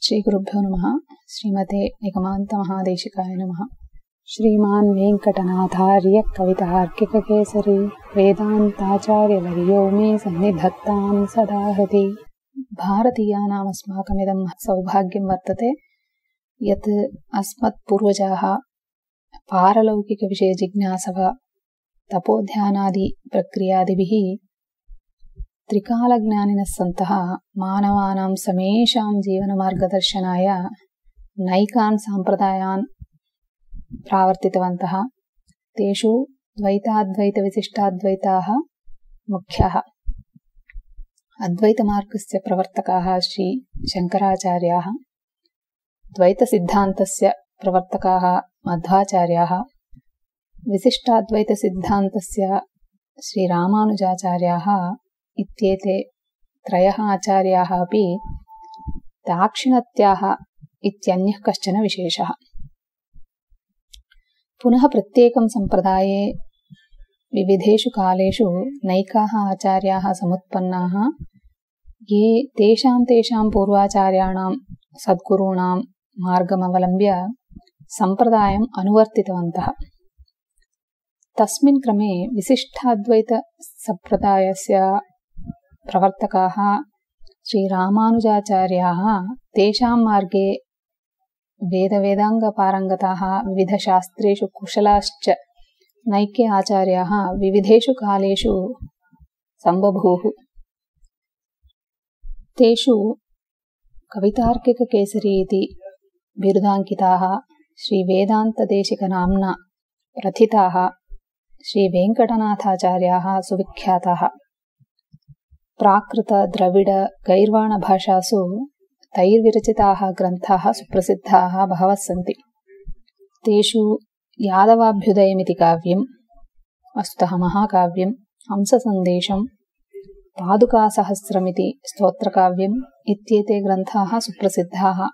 श्रीगुरुभ्यो नमः। श्रीमते निगमान्तमहादेशिकाय नमः। श्रीमान् वेङ्कटनाथार्य कवितार्किककेसरी वेदान्ताचार्यवर्यो मे सन्निधत्तां सदा हृदि। भारतीयानाम् अस्माकमिदं सौभाग्यं वर्तते यत् अस्मत्पूर्वजाः पारलौकिकविषयजिज्ञासव तपोध्यानादि प्रक्रियादिभिः त्रिकालज्ञानिनः सन्तः मानवानां समेषां जीवनमार्गदर्शनाय नैकान् साम्प्रदायान् प्रावर्तितवन्तः। तेषु द्वैताद्वैतविशिष्टाद्वैताः मुख्याः। अद्वैतमार्गस्य प्रवर्तकाः श्री शङ्कराचार्याः, द्वैतसिद्धान्तस्य प्रवर्तकाः मध्वाचार्याः, विशिष्टाद्वैतसिद्धान्तस्य श्रीरामानुजाचार्याः इत्येते त्रयः आचार्याः अपि दाक्षिणत्याः इत्यन्यः कश्चन विशेषः। पुनः प्रत्येकं सम्प्रदाये विविधेषु कालेषु नैकाः आचार्याः समुत्पन्नाः, ये तेषां पूर्वाचार्याणां सद्गुरूणां मार्गमवलम्ब्य सम्प्रदायम् अनुवर्तितवन्तः। तस्मिन् क्रमे विशिष्टाद्वैतसम्प्रदायस्य प्रवर्तकाः श्रीरामानुजाचार्याः तेषां मार्गे वेदवेदाङ्गपारङ्गताः, विविधशास्त्रेषु कुशलाश्च नैके आचार्याः विविधेषु कालेषु सम्बभूः। तेषु कवितार्किककेसरी इति बिरुदाङ्किताः श्रीवेदान्तदेशिकनाम्ना प्रथिताः श्रीवेङ्कटनाथाचार्याः सुविख्याताः। प्राकृत द्रविड गैर्वाणभाषासु तैर्विरचिताः ग्रन्थाः सुप्रसिद्धाः बहवः सन्ति। तेषु यादवाभ्युदयमिति काव्यं, वस्तुतः महाकाव्यं, हंससन्देशं, पादुकासहस्रमिति स्तोत्रकाव्यम् इत्येते ग्रन्थाः सुप्रसिद्धाः।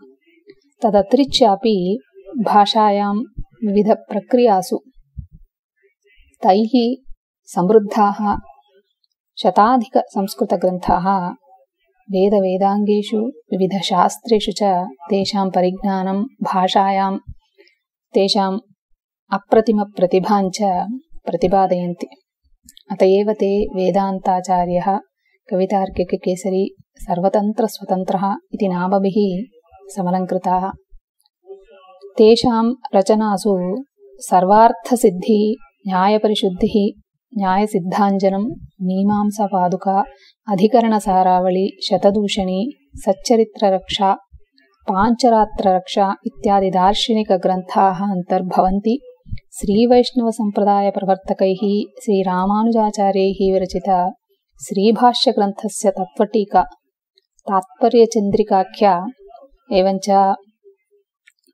तदतिरिच्यापि भाषायां विविधप्रक्रियासु तैः समृद्धाः शताधिकसंस्कृतग्रन्थाः वेदवेदाङ्गेषु विविधशास्त्रेषु च तेषां परिज्ञानं, भाषायां तेषाम् अप्रतिमप्रतिभाञ्च प्रतिपादयन्ति। अत एव ते वेदान्ताचार्यः, कवितार्किककेसरी, सर्वतन्त्रस्वतन्त्रः इति नामभिः समलङ्कृताः। तेषां रचनासु सर्वार्थसिद्धिः, न्यायपरिशुद्धिः, न्यायसिद्धाञ्जनं, मीमांसापादुका, अधिकरणसारावळि, शतदूषणी, सच्चरित्ररक्षा, पाञ्चरात्ररक्षा इत्यादि दार्शनिकग्रन्थाः अन्तर्भवन्ति। श्रीवैष्णवसम्प्रदायप्रवर्तकैः श्रीरामानुजाचार्यैः विरचित श्रीभाष्यग्रन्थस्य तत्त्वटीका, तात्पर्यचन्द्रिकाख्या, एवञ्च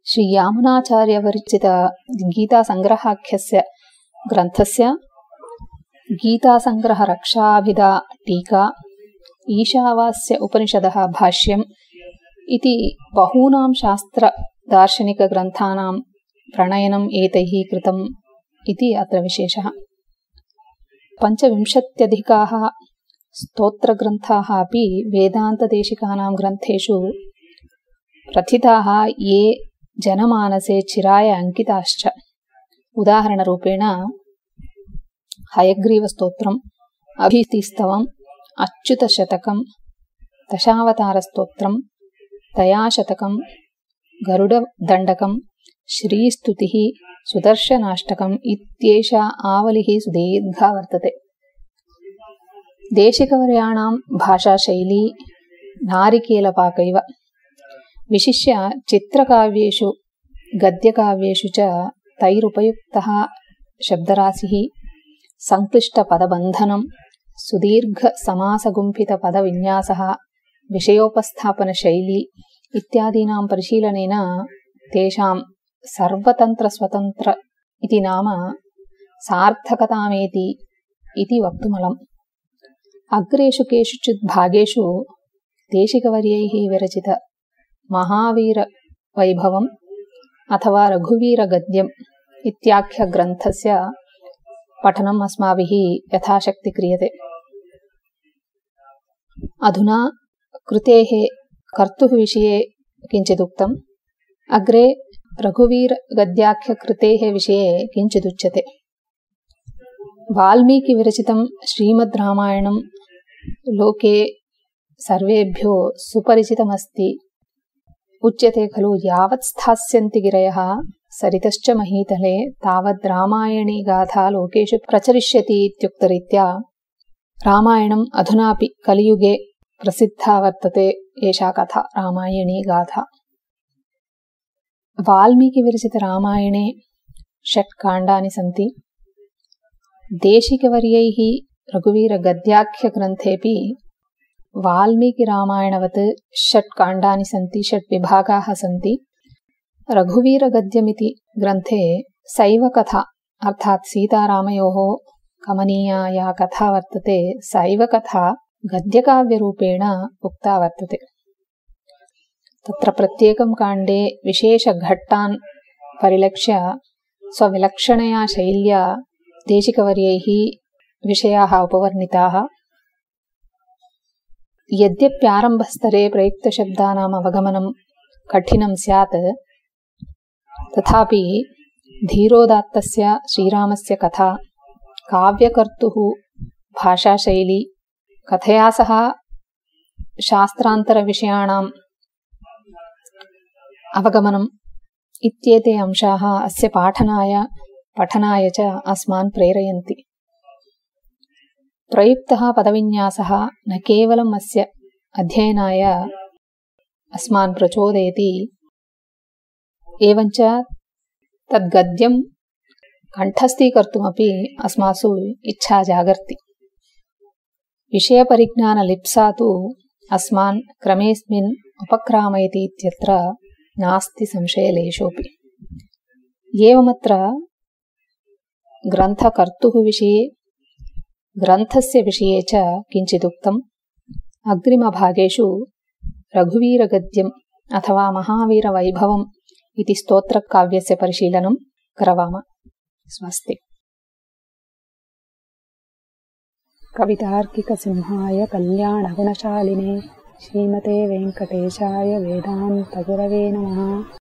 श्रीयामुनाचार्यविरचित गीतासङ्ग्रहाख्यस्य ग्रन्थस्य गीतासङ्ग्रहरक्षाभिधा टीका, ईशावास्य उपनिषदः भाष्यम् इति बहूनां शास्त्रदार्शनिकग्रन्थानां प्रणयनम् एतैः कृतम् इति अत्र विशेषः। 25 स्तोत्रग्रन्थाः अपि वेदान्तदेशिकानां ग्रन्थेषु प्रथिताः, ये जनमानसे चिराय अंकिताश्च। उदाहरणरूपेण हयग्रीवस्तोत्रम्, अभीतिस्तवम्, अच्युतशतकं, दशावतारस्तोत्रं, दयाशतकं, गरुडदण्डकं, श्रीस्तुतिः, सुदर्शनाष्टकम् इत्येषा आवलिः सुदीर्घा वर्तते। देशिकवर्याणां भाषाशैली नारिकेलपाकैव। विशिष्य चित्रकाव्येषु गद्यकाव्येषु च तैरुपयुक्तः शब्दराशिः, संक्लिष्टपदबन्धनं, सुदीर्घसमासगुम्फितपदविन्यासः, विषयोपस्थापनशैली इत्यादीनां परिशीलनेन तेषां सर्वतन्त्रस्वतन्त्र इति नाम सार्थकतामेति इति वक्तुमलम्। अग्रेषु केषुचित् भागेषु देशिकवर्यैः विरचित महावीरवैभवम् अथवा रघुवीरगद्यम् इत्याख्यग्रन्थस्य पठनम् अस्माभिः यथाशक्ति क्रियते। अधुना कृतेः कर्तुः विषये किञ्चिदुक्तम्। अग्रे रघुवीरगद्याख्यकृतेः विषये किञ्चिदुच्यते। वाल्मीकिविरचितं श्रीमद्रामायणं लोके सर्वेभ्यो सुपरिचितमस्ति। उच्यते खलु यावत् स्थास्यन्ति गिरयः सरितश्च महीतले तावद् रामायणी गाथा लोकेषु प्रचरिष्यति इत्युक्तरीत्या रामायणम् अधुनापि कलियुगे प्रसिद्धा वर्तते एषा कथा रामायणी गाथा। वाल्मीकिविरचितरामायणे 6 काण्डानि सन्ति। देशिकवर्यैः रघुवीरगद्याख्यग्रन्थेऽपि वाल्मीकिरामायणवत् 6 काण्डानि सन्ति, 6 विभागाः सन्ति। रघुवीरगद्यमिति ग्रन्थे सैवकथा अर्थात् सीतारामयोः कमनीया या कथा वर्तते सैवकथा गद्यकाव्यरूपेण उक्ता वर्तते। तत्र प्रत्येकं काण्डे विशेषघट्टान् परिलक्ष्य स्वविलक्षणया शैल्या देशिकवर्यैः विषयाः उपवर्णिताः। यद्यप्यारम्भस्तरे प्रयुक्तशब्दानाम् अवगमनं कठिनं स्यात् तथापि धीरोदात्तस्य श्रीरामस्य कथा काव्यकर्तुः भाषाशैली कथया सह शास्त्रान्तरविषयाणाम् अवगमनम् इत्येते अंशाः अस्य पठनाय च अस्मान् प्रेरयन्ति। प्रयुक्तः पदविन्यासः न केवलम् अस्य अध्ययनाय अस्मान् प्रचोदयति, एवञ्च तद्गद्यं कण्ठस्थीकर्तुमपि अस्मासु इच्छा जागर्ति। विषयपरिज्ञानलिप्सा तु अस्मान् क्रमेऽस्मिन् उपक्रामयति इत्यत्र नास्ति संशयलेशोऽपि। एवमत्र ग्रन्थकर्तुः विषये ग्रन्थस्य विषये च किञ्चिदुक्तम्। अग्रिमभागेषु रघुवीरगद्यम् अथवा महावीरवैभवम् इति स्तोत्रकाव्यस्य परिशीलनं करवाम। स्वस्ति। कवितार्किकसिंहाय कल्याणगुणशालिने श्रीमते वेङ्कटेशाय वेदान्तगुरवे नमः।